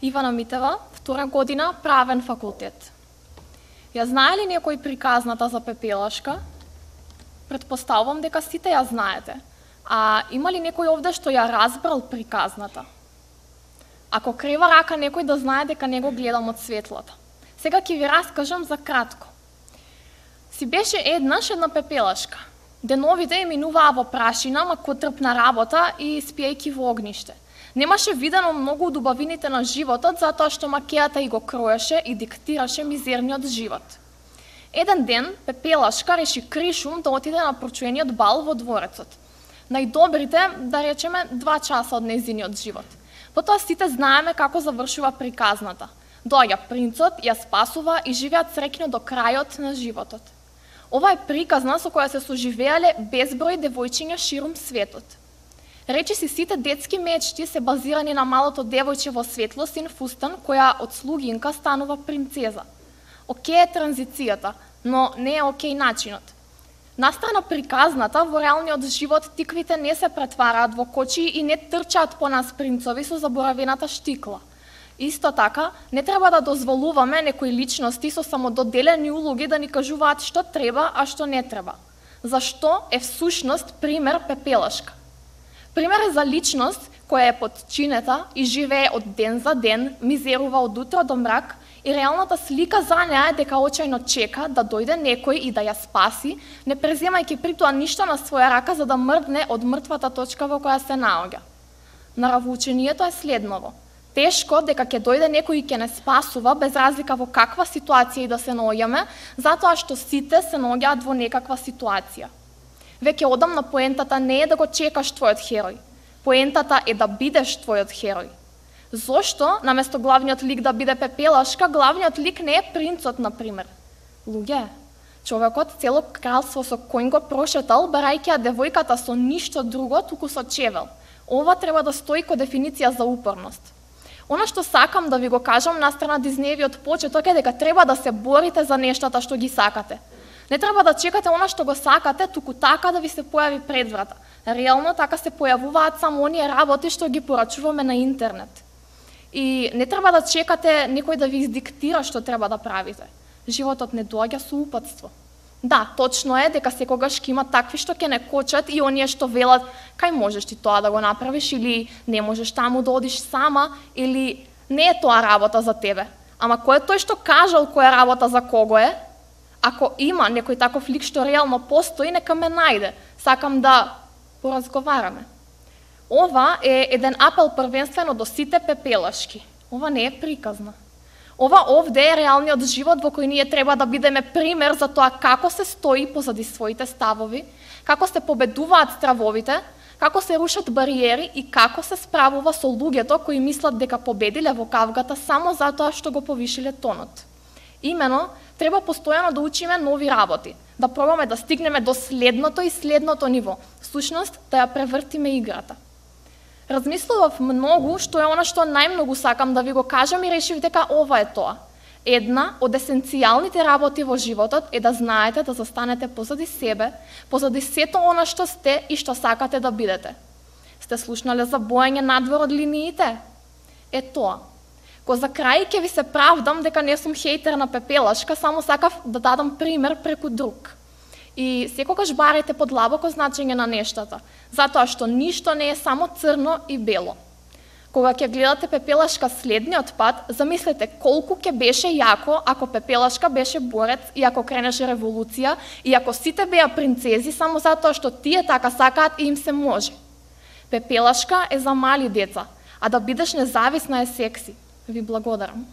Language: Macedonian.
Ивана Митева, 2 година, правен факултет. Ја знае ли некој приказната за Пепелашка? Предпоставувам дека сите ја знаете. А има ли некој овде што ја разбрал приказната? Ако крева рака некој да знае дека не го гледам од светлата. Сега ќе ви раскажам за кратко. Си беше еднаш една Пепелашка. Деновите ја минуваа во прашина, макотрпна работа и спиејки во огниште. Немаше видено многу од убавините на животот, затоа што макејата и го кроеше и диктираше мизерниот живот. Еден ден, Пепелашка реши кришум да отиде на прочуениот бал во дворецот. Најдобрите, да речеме, 2 часа од нејзиниот живот. Потоа сите знаеме како завршува приказната. Доаѓа принцот, ја спасува и живеат среќно до крајот на животот. Ова е приказна со која се соживеале безброј девојчиња ширум светот. Речиси сите детски мечти се базирани на малото девојче во светлосин фустан која од слугинка станува принцеза. Океј е транзицијата, но не е океј начинот. Настрана приказната, во реалниот живот тиквите не се претвараат во кочи и не трчаат по нас принцови со заборавената штикла. Исто така, не треба да дозволуваме некои личности со самододелени улоги да ни кажуваат што треба, а што не треба. Зашто е всушност пример Пепелашка. Пример е за личност која е подчинета и живее од ден за ден, мизерува од утро до мрак и реалната слика за неа е дека очајно чека да дојде некој и да ја спаси, не преземајќи при тоа ништо на своја рака за да мрдне од мртвата точка во која се наоѓа. Наравоучението е следново. Тешко дека ќе дојде некој и ќе не спасува без разлика во каква ситуација и да се наоѓаме, затоа што сите се наоѓаат во некаква ситуација. Веќе одам на поентата не е да го чекаш твојот херој. Поентата е да бидеш твојот херој. Зошто, наместо главниот лик да биде Пепелашка, главниот лик не е принцот, например? Луѓе, човекот цело кралство со кој го прошетал, барајќи ја девојката со ништо друго, туку со чевел. Ова треба да стои ко дефиниција за упорност. Она што сакам да ви го кажам настрана Дизнеевиот почеток е дека треба да се борите за нештата што ги сакате. Не треба да чекате она што го сакате, туку така да ви се појави пред врата. Реално така се појавуваат само оние работи што ги порачуваме на интернет. И не треба да чекате некој да ви издиктира што треба да правите. Животот не доаѓа со упатство. Да, точно е дека секогаш ќе има такви што ќе не кочат и оние што велат кај можеш ти тоа да го направиш или не можеш таму да одиш сама или не е тоа работа за тебе. Ама кој е тој што кажал која работа за кого е? Ако има некој таков лик што реално постои, нека ме најде. Сакам да поразговараме. Ова е еден апел првенствено до сите Пепелашки. Ова не е приказна. Ова овде е реалниот живот во кој ние треба да бидеме пример за тоа како се стои позади своите ставови, како се победуваат стравовите, како се рушат бариери и како се справува со луѓето кои мислат дека победиле во кавгата само затоа што го повишиле тонот. Имено, треба постојано да учиме нови работи, да пробаме да стигнеме до следното и следното ниво, всушност да ја превртиме играта. Размислував многу што е она што најмногу сакам да ви го кажам и решив дека ова е тоа. Една од есенцијалните работи во животот е да знаете да застанете позади себе, позади сето она што сте и што сакате да бидете. Сте слушнале за боење надвор од линиите? Е тоа. Ко за крај ќе ви се правдам дека не сум хейтер на Пепелашка, само сакав да дадам пример преку друг. И секогаш барајте подлабоко значење на нештата, затоа што ништо не е само црно и бело. Кога ќе гледате Пепелашка следниот пат, замислете колку ќе беше јако ако Пепелашка беше борец и ако кренеше револуција и ако сите беа принцези само затоа што тие така сакаат и им се може. Пепелашка е за мали деца, а да бидеш независна е секси. Ви благодарам.